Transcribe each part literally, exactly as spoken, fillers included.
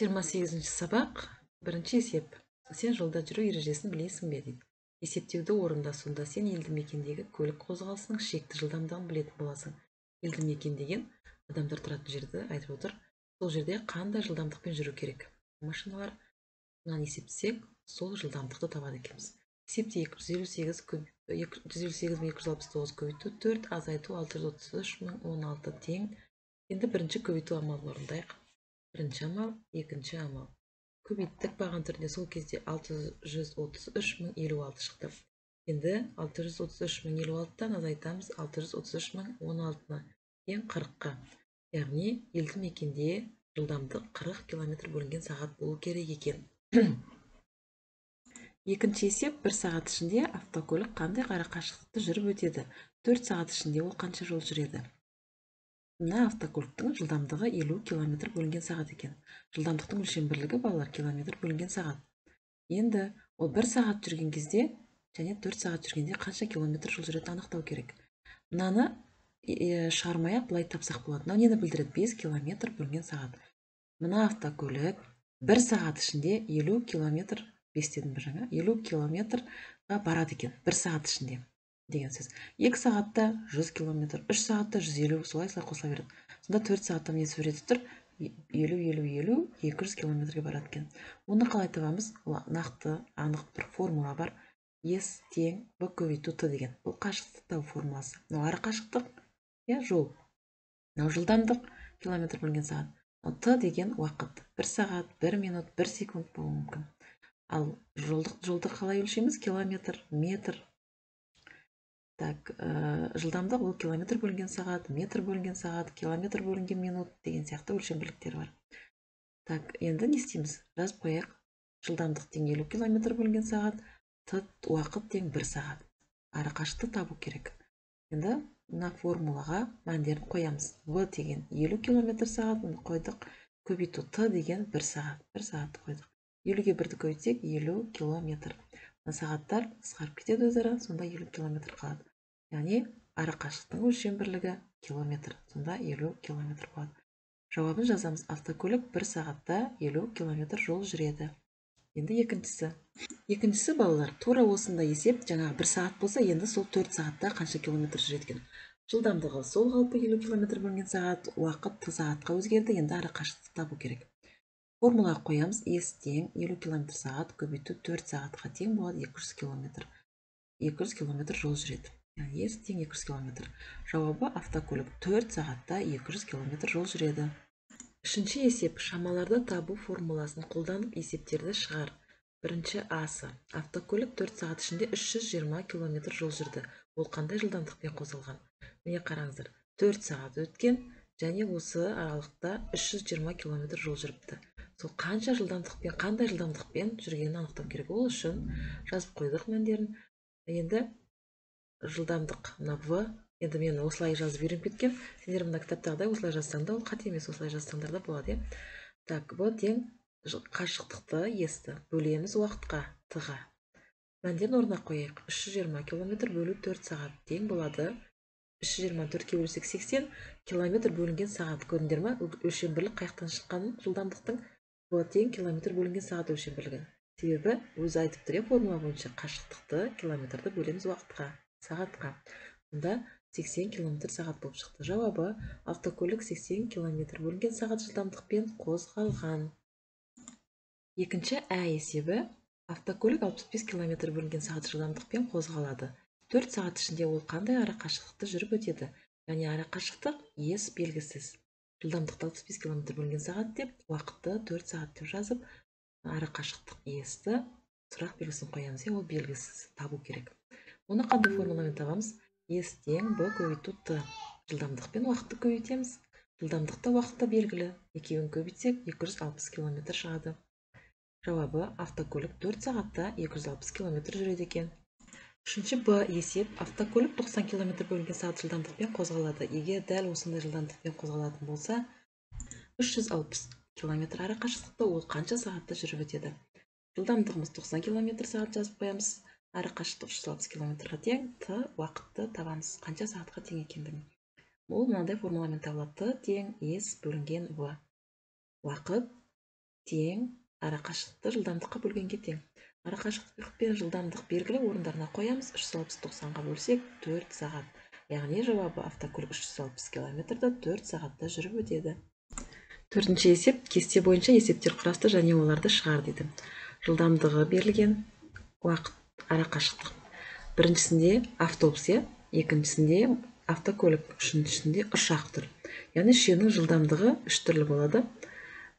жиырма сегізінші сабақ, бірінші есеп. Сен жолда жүру ережесін білесің бе дейді. Есептеуді орында, сонда сен елді мекендегі көлік қозғалысының шекті жылдамдығын білетін боласың. Елді мекен деген адамдар тұратын жерді айтып отыр. Сол жерде қандай жылдамдықпен жүру керек? Машиналар. Мынаны есептесек, сол жылдамдықты табады екенбіз. Есепте екі жүз елу сегіз мың екі жүз алпыс тоғыз көбейту төрт азайту алты жүз отыз үш мың он алты тең. Енді бірінші көбейту амалын орындайық. Бірінші амал, екінші амал. Көбейттік баған түрінде сол кезде алты жүз отыз үш мың елу алты шықты. Енді алты жүз отыз үш мың елу алтыдан азайтамыз алты жүз отыз үш мың он алтыны тең қырыққа. Яғни елді мекенде жылдамдық қырық километр бөлінген сағат болу керек екен. Екінші есеп, бір сағат ішінде автокөлік қандай қашықтықты жүріп өтеді? төрт сағат ішінде ол қанша жол жүреді? Мына автокөліктің жылдамдығы елу километр бөлінген сағат екен. Жылдамдықтың өлшем бірлігі балалар километр бөлінген сағат. Енді ол бір сағат жүрген кезде және төрт сағат жүргенде қанша километр жол жүретінін анықтау керек. Мынаны шығармай-ақ былай тапсақ болады. Мынау нені білдіреді? бес километр бөлінген сағат. Мына автокөлік бір сағат ішінде елу километр, бес дедім бір жаңа, елу километрға барады екен бір сағат ішінде деген сөз. екі сағатта жүз километр, үш сағатта жүз елу, солай-солай қосыла береді. Сонда төрт сағатта не суреті тұр? елу, елу, елу, екі жүз километрге барады екен. Оны қалай табамыз? Нақты, анық бір формула бар. С тең В көбейту Т деген. Бұл қашықтық табу формуласы. Мынау ара қашықтық, я жол. Мынау жылдамдық, километр бөлінген сағат. Т деген уақыт. бір сағат, бір минут, бір секунд болуы мүмкін. Ал жолды қалай өлшейміз? Километр, метр. Так, жылдамдық ол километр бөлінген сағат, метр бөлінген сағат, километр бөлінген минут деген сияқты өлшем бірліктер бар. Так, енді не істейміз? Жазып қояйық. Жылдамдық тең елу километр бөлінген сағат, Т уақыт тең бір сағат. Ара қашықтықты табу керек. Енді мына формулаға мәндерін қоямыз. В деген елу километр сағатын қойдық, көбейту Т деген бір сағат. бір сағатты қойдық. елуге бірді көбейтсек елу километр. Сағаттар қысқарып кетеді өзара, сонда елу километр қалады. Яғни ара қашықтықтың өлшем бірлігі километр, сонда елу километр болады. Жауабын жазамыз. Автокөлік бір сағатта елу километр жол жүреді. Енді екіншісі. Екіншісі балалар, тура осында есеп, жаңағы бір сағат болса, енді сол төрт сағатта қанша километр жүреді екен. Жылдамдығы сол қалпы елу километр бөлінген сағат, уақыт сағатқа өзгерді, енді ара қашықтықты табу керек. Формулаға қоямыз. С тең елу километр сағат көбейту төрт сағатқа тең болады екі жүз километр. екі жүз километр жол жүреді. Яғни С тең екі жүз километр. Жауабы автокөлік төрт сағатта екі жүз километр жол жүреді. Үшінші есеп, шамаларды табу формуласын қолданып есептерді шығар. Бірінші асы. Автокөлік төрт сағат ішінде үш жүз жиырма километр жол жүрді. Ол қандай жылдамдықпен қозғалған? Міне қараңыздар. төрт сағат өткен және осы аралықта үш жүз жиырма километр жол жүріпті. Сол қанша жылдамдықпен, қандай жылдамдықпен жүргенін анықтау керек. Ол үшін жазып қойдық мәндерін. Енді жылдамдық мына В. Енді мен осылай жазып үйреніп кеткен. Сендер мына кітаптағыдай осылай жазсаң да, ол қате емес, осылай жазсаңдар да болады. Так, В тең қашықтықты С-ті бөлеміз уақытқа Т-ға. Мәндерін орнына қояйық. үш жүз жиырма километр бөлу төрт сағат тең болады. үш жүз жиырма төртке бөлсек сексен километр бөлінген сағат. Көрдіңдер ме? Өлшем бірлік қаяқтан шыққанын? Жылдамдықтың В тең километр бөлінген сағат өлшем бірлігі. Себебі өзі айтып тұр, формула бойынша қашықтықты километрді бөлеміз уақытқа, сағатқа. Онда сексен километр сағат болып шықты. Жауабы автокөлік сексен километр бөлінген сағат жылдамдықпен қозғалған. Екінші ә есебі. Автокөлік алпыс бес километр бөлінген сағат жылдамдықпен қозғалады. төрт сағат ішінде ол қандай ара қашықтықты жүріп өтеді? Яғни ара қашықтық С белгісіз. Жылдамдықты алпыс бес километр бөлінген сағат деп, уақытты төрт сағат деп жазып, ара қашықтық С-ті сұрақ белгісін қоямыз. Ол белгісіз, табу керек. Оны қандай формуламен табамыз? С тең В көбейту Т. Жылдамдықпен уақытты көбейтеміз. Жылдамдықта уақытта белгілі. Екеуін көбейтсек екі жүз алпыс километр шығады. Жауабы автокөлік төрт сағатта екі жүз алпыс километр жүреді екен. Үшінші Б есеп. Автокөлік тоқсан километр бөлінген сағат жылдамдықпен қозғалады. Егер дәл осындай жылдамдықпен қозғалатын болса, үш жүз алпыс километр ара қашықтықта ол қанша сағатта жүріп өтеді? Жылдамдығымыз тоқсан километр сағат жазып қоямыз. Ара қашықтық үш жүз алпыс километрға тең, Т уақытты табамыз. Қанша сағатқа тең екендігін. Ол мынандай формуламен табылады. Т тең С бөлінген В. Уақыт тең арақашықтықты жылдамдыққа бөлгенге тең. Арақашықтық пен жылдамдық белгілі орындарына қоямыз. үш жүз алпыс тоқсанға бөлсек төрт сағат. Яғни жауабы автокөлік үш жүз алпыс километрді төрт сағатта жүріп өтеді. Төртінші есеп кесте бойынша есептер құрасты және оларды шығар дейді. Жылдамдығы берілген, уақыт, арақашықтық. Біріншісінде автобус, екіншісінде автокөлік, үшіншісінде ұшақ тұр. Яғни үшеуінің жылдамдығы үш түрлі болады.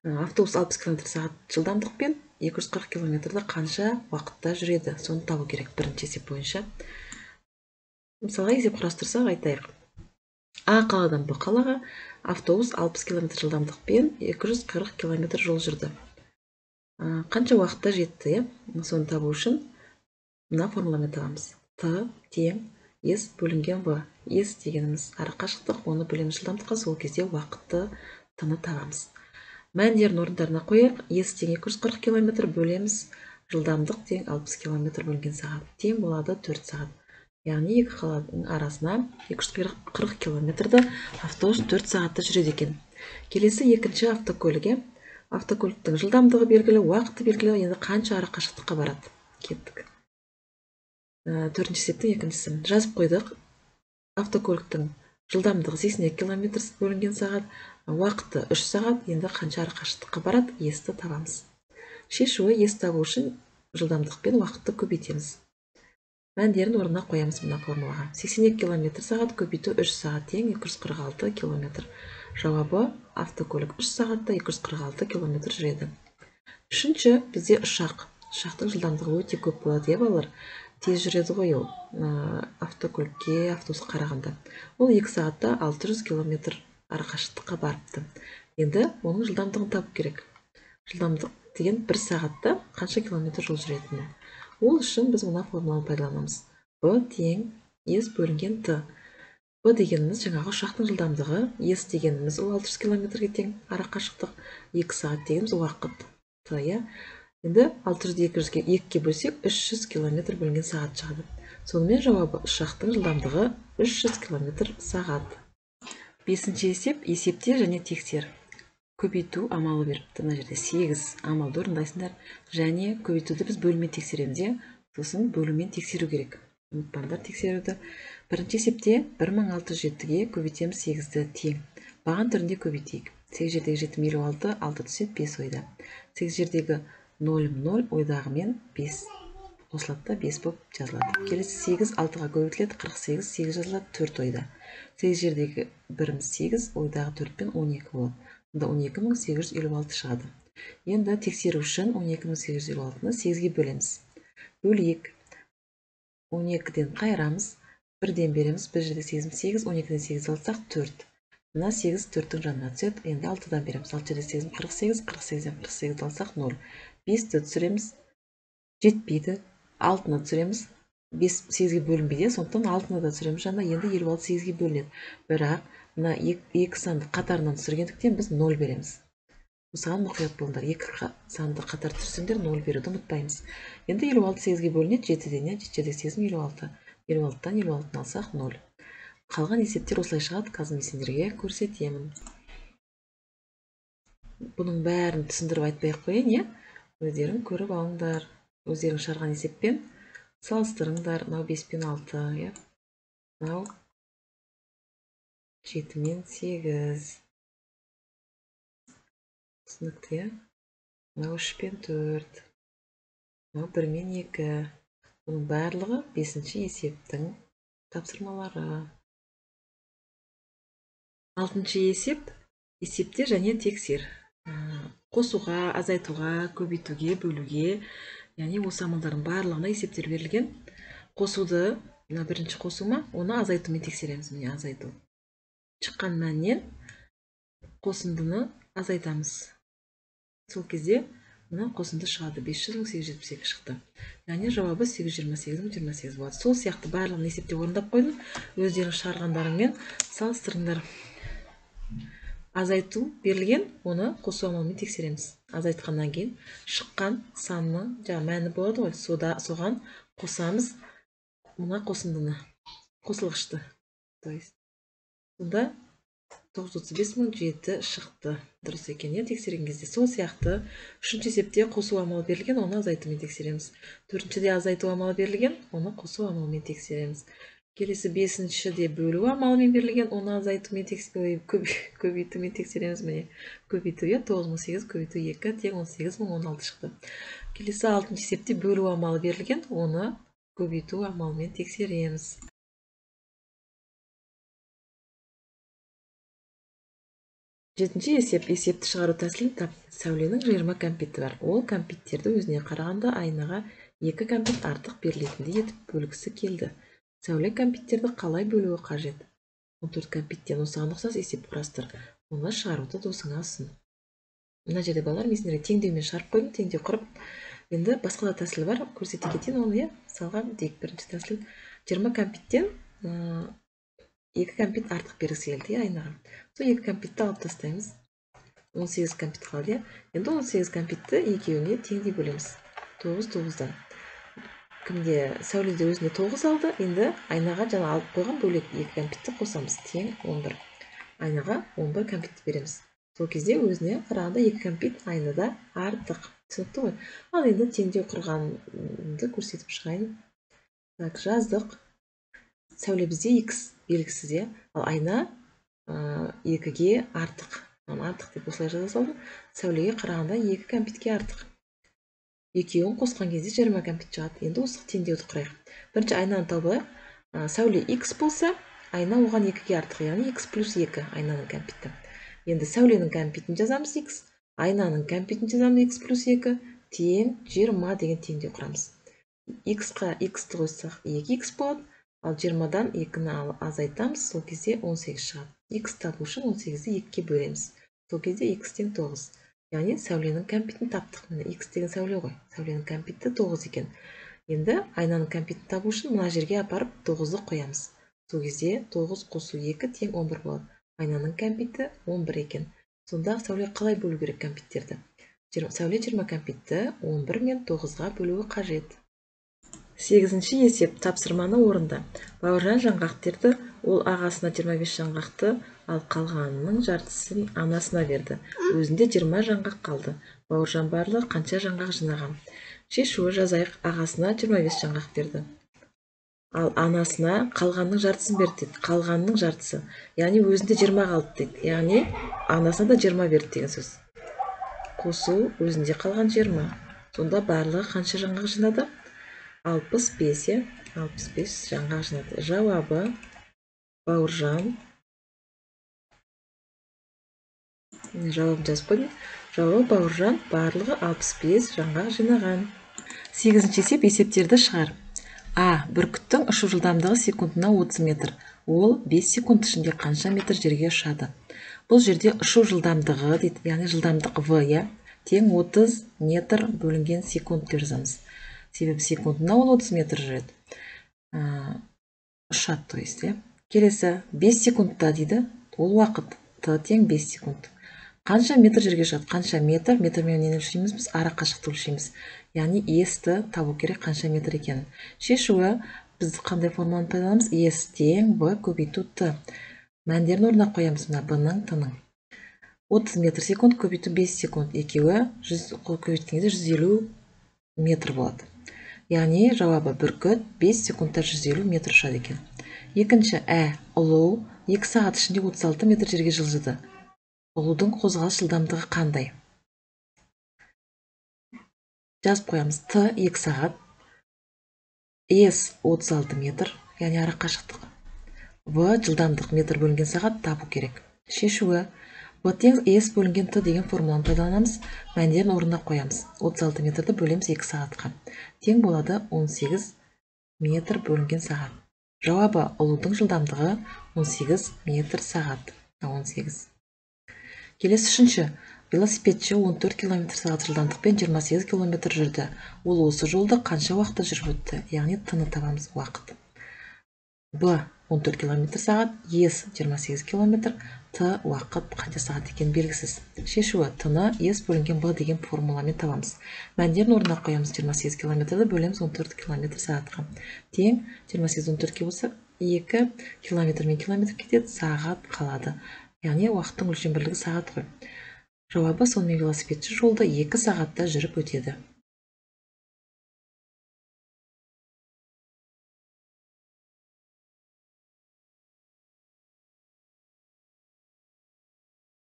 Автобус алпыс километр сағат жылдамдықпен екі жүз қырық километрді қанша уақытта жүреді, соны табу керек бірінші есеп бойынша. Мысалға есеп құрастырсақ айтайық. А қаладан Б қалаға автобус алпыс километр жылдамдықпен екі жүз қырық километр жол жүрді. Қанша уақытта жетті, соны табу үшін мына формуламен табамыз. Т тең S бөлінген В. S дегеніміз арақашықтық, оны бөлеміз жылдамдыққа, сол кезде уақытты Т-ны табамыз. Мәндерін орындарына қояйық. S тең екі жүз қырық километр бөлеміз жылдамдық тең алпыс километр бөлінген сағат. Тең болады төрт сағат. Яғни екі қаланың арасына екі жүз қырық километрді автобус төрт сағатта жүреді екен. Келесі екінші автокөліге. Автокөліктің жылдамдығы белгілі, уақыты белгілі, енді қанша арақашықтыққа барады. Кеттік. Төртінші есептің екіншісі. Жазып қойдық. Автокөліктің жылдамдығы сексен екі километр бөлінген сағат, уақыты үш сағат, енді қанша арақашықтыққа барады, S-ті табамыз. Шешуі S табу үшін жылдамдықпен уақытты көбейтеміз. Мәндерін орнына қоямыз мына формулаға. сексен екі километр сағат көбейту үш сағат тең екі жүз қырық алты километр. Жауабы автокөлік үш сағатта екі жүз қырық алты километр жүреді. Үшінші бізде ұшақ. Ұшақтың жылдамдығы өте көп болады, балалар. Тез жүреді ғой ол автокөлікке, автобусқа қарағанда. Ол екі сағатта алты жүз километр арақашықтыққа барыпты. Енді оның жылдамдығын табу керек. Жылдамдық деген бір сағатта қанша километр жол жүретіні. Ол үшін біз мына формуланы пайдаланамыз. В тең S бөлінген Т. В дегеніміз жаңағы ұшақтың жылдамдығы, S дегеніміз ол алты жүз километрге тең арақашықтық, екі сағат дегеніміз уақыт Т. Енді алты жүзді екіге бөлсек үш жүз километр бөлінген сағат шығады. Сонымен жауабы ұшақтың жылдамдығы үш жүз километр сағат. Бесінші есеп, есепте және тексер. Көбейту амалы беріпті. Мына жерде сегіз амалды орындайсыңдар. Және көбейтуді біз бөлумен тексереміз, сосын бөлумен тексеру керек. Ұмытпаңдар тексеруді. Бірінші есепте бір мың алты жүз жетіге көбейтеміз сегізді тең. Баған түрінде көбейтейік. сегіз жердегі жеті елу алты, алты түседі бес ойда. сегіз жердегі нөл нөл ойдағымен бес қосылады, бес болып жазылады. Келесі сегіз алтыға көбейтіледі, қырық сегіз, сегіз жазылады, төрт ойда. сегіз жердегі біріміз сегіз, ойдағы төртпен он екі болады. Онда он екі мың сегіз жүз елу алты шығады. Енді тексеру үшін он екі мың сегіз жүз елу алтыны сегізге бөлеміз. Бөлейік. он екіден қайырамыз, бірден береміз, бір жерде сегіз, сегіз, он екіден сегіз алсақ төрт. Мына сегіз төрттің жанына түседі, енді алтыдан береміз. алты жерде сегіз, қырық сегіз, қырық сегізден қырық сегізді алсақ нөл. бесті түсіреміз, жетпейді. алтыны түсіреміз, бес сегізге бөлінбейді, сондықтан алтыны да түсіреміз жанына, енді елу алты сегізге бөлінеді. Бірақ мына екі санды қатарынан түсіргендіктен біз нөл береміз. Осыған мұқият болыңдар. Екі санды қатар түсірсеңдер нөл беруді ұмытпаймыз. Енді елу алты сегізге бөлінеді, жетіден, жетіде сегіз елу алты. елу алтыдан елу алтыны алсақ нөл. Қалған есептер осылай шығады, қазір мен сендерге көрсетемін. Бұның бәрін түсіндіріп айтпай-ақ қояйын, өздерің көріп алыңдар. Өздерің шығарған есеппен салыстырыңдар. Мынау бес пен алты, мынау жеті мен сегіз. Түсінікті, мынау үш пен төрт. Мынау бір мен екі. Бұның барлығы бесінші есептің тапсырмалары. Алтыншы есеп, есепте және тексер. Қосуға, азайтуға, көбейтуге, бөлуге, яғни осы амалдардың барлығына есептер берілген. Қосуды, бірінші қосума, оны азайтумен тексереміз. Міне азайту. Шыққан мәннен қосындыны азайтамыз. Сол кезде мына қосынды шығады. бес жүз мың сегіз жүз жетпіс екі шықты. Яғни жауабы сегіз жүз жиырма сегіз мың жиырма сегіз болады. Сол сияқты барлығын есепте орындап қойдым. Өздерің шығарғандарыңмен салыстырыңдар. Азайту берілген, оны қосу амалымен тексереміз. Азайтқаннан кейін шыққан санның жаңа мәні болады ғой, соған қосамыз мына қосындыны, қосылғышты. Сонда тоғыз жүз отыз бес мың жеті шықты. Дұрыс екен, е, тексерген кезде. Сол сияқты үшінші есепте қосу амалы берілген, оны азайтумен тексереміз. Төртіншіде азайту амалы берілген, оны қосу амалымен тексереміз. Келесі бесіншіде бөлу амалымен берілген, оны азайтумен көбейтумен тексереміз. Міне, көбейту, тоғыз мың сегіз көбейту екі тең он сегіз мың он алты шықты. Келесі алтыншы есепте бөлу амалы берілген, оны көбейту амалымен тексереміз. Жетінші есеп, есепті шығару тәсілін тап. Сәуленің жиырма кәмпиті бар. Ол кәмпиттерді өзіне қарағанда айнаға екі кәмпит артық берілетіндей етіп бөлгісі келді. Сәуле кәмпиттерді қалай бөлуі қажет? он төрт кәмпиттен осыған ұқсас есеп құрастыр. Оны шығаруды досыңа ұсын. Мына жерде балалар, мен сендерге теңдеумен шығарып қойдым, теңдеу құрып. Енді басқа да тәсіл бар, көрсете кетейін оны. Мысалға, дейік бірінші тәсіл. жиырма кәмпиттен екі кәмпит артық бергісі келді айнаға. Сол екі кәмпитті алып тастаймыз. он сегіз кәмпит қалды. Енді он сегіз кәмпитті екеуіне теңдей бөлеміз. тоғыз тоғыздан. Кімде сәуледе өзіне тоғыз алды, енді айнаға жаңа алып қойған бөлек екі кәмпитті қосамыз. Тең он бір. Айнаға он бір кәмпитті береміз. Сол кезде өзіне қарағанда екі кәмпит айнада артық. Түсінікті ғой? Ал енді теңдеу құрғанды көрсетіп шығайын. Так, жаздық. Сәуле бізде x белгісіз, ал айна екіге артық. Артық деп осылай жаза салдым. Сәулеге қарағанда екі кәмпитке артық. Екеуін қосқан кезде жиырма кәмпит шығады. Енді осы теңдеуді құрайық. Бірінші айнаны тауып алайық. Сәуле x болса, айна оған екіге артық, яғни x плюс екі айнаның кәмпиті. Енді сәуленің кәмпитін жазамыз x, айнаның кәмпитін жазамыз x плюс екі, тең жиырма деген теңдеу құрамыз. X-қа x-ті қойсақ екі икс болады. Ал жиырмадан екіні азайтамыз, сол кезде он сегіз шығады. X табу үшін он сегізді екіге бөлеміз. Сол кезде x тең тоғыз. Яғни сәуленің кәмпитін таптық. Міне x деген сәуле ғой. Сәуленің кәмпиті тоғыз екен. Енді айнаның кәмпитін табу үшін мына жерге апарып тоғызды қоямыз. Сол кезде тоғыз қосу екі тең он бір болады. Айнаның кәмпиті он бір екен. Сонда сәуле қалай бөлу керек кәмпиттерді? Сәуле жиырма кәмпитті он бір мен тоғызға бөлуі қажет. Сегізінші есеп, тапсырманы орында. Бауыржан жаңғақ ол ағасына жиырма бес жаңғақты, ал қалғанының жартысын анасына берді. Өзінде жиырма жаңғақ қалды. Бауыржан барлығы қанша жаңғақ жинаған? Шешуі жазайық, ағасына жиырма бес жаңғақ берді. Ал анасына қалғанның жартысын берді дейді. Қалғанның жартысы. Яғни өзінде жиырма қалды дейді. Яғни анасына да жиырма берді деген сөз. Қосу өзінде қалған жиырма. Сонда барлығы қанша жаңғақ жинады? алпыс бес, алпыс бес жаңғақ жинады. Жауабы Бауыржан. Жауабын жазып қойдым. Жауабы Бауыржан барлығы алпыс бес жаңғақ жинаған. Сегізінші есеп, есептерді шығар. А. Бүркіттің ұшу жылдамдығы секундына отыз метр. Ол бес секунд ішінде қанша метр жерге ұшады? Бұл жерде ұшу жылдамдығы дейді, яғни жылдамдық v, тең отыз метр бөлінген секунд деп жазамыз. Себебі секундына ол отыз метр жүреді. Ұшады, то есть. Келесі бес секундта дейді, ол уақыт т тең бес секунд. Қанша метр жерге ұшады? Қанша метр? Метрмен нені өлшейміз біз? Ара қашықтықты өлшейміз. Яғни s-ті табу керек қанша метр екенін. Шешуі біз қандай формуланы пайдаланамыз? S тең b көбейту t. Мәндерін орнына қоямыз, мына b-ның t-ның. отыз метр секунд көбейту бес секунд. Екеуі көбейткенде жүз елу метр болады. Яғни жауабы бүркіт бес секундта жүз елу метр ұшады екен. Екінші ә. Ұлу екі сағат ішінде отыз алты метр жерге жылжыды. Ұлудың қозғалыс жылдамдығы қандай? Жазып қоямыз. Т екі сағат, S отыз алты метр, яғни ара қашықтық. В жылдамдық метр бөлінген сағат табу керек. Шешуі v тең S бөлінген Т деген формуланы пайдаланамыз. Мәндерін орнына қоямыз. отыз алты метрді бөлеміз екі сағатқа. Тең болады он сегіз метр бөлінген сағат. Жауабы ұлудың жылдамдығы он сегіз метр сағат. он сегіз. Келесі үшінші. Велосипедші он төрт километр сағат жылдамдықпен жиырма сегіз километр жүрді. Ол осы жолды қанша уақытта жүріп өтті? Яғни т-ны табамыз, уақыт. Б он төрт километр сағат, S жиырма сегіз километр, Т уақыт қанша сағат екен белгісіз. Шешуі т-ны S бөлінген Б деген формуламен табамыз. Мәндерін орнына қоямыз. жиырма сегіз километрді бөлеміз он төрт километр сағатқа. Тең жиырма сегіз он төртке болса екі километр мен километр кетеді, сағат қалады. яғни уақыттың өлшем бірлігі сағат қой. Жауабы: сонымен велосипедші жолды екі сағатта жүріп өтеді.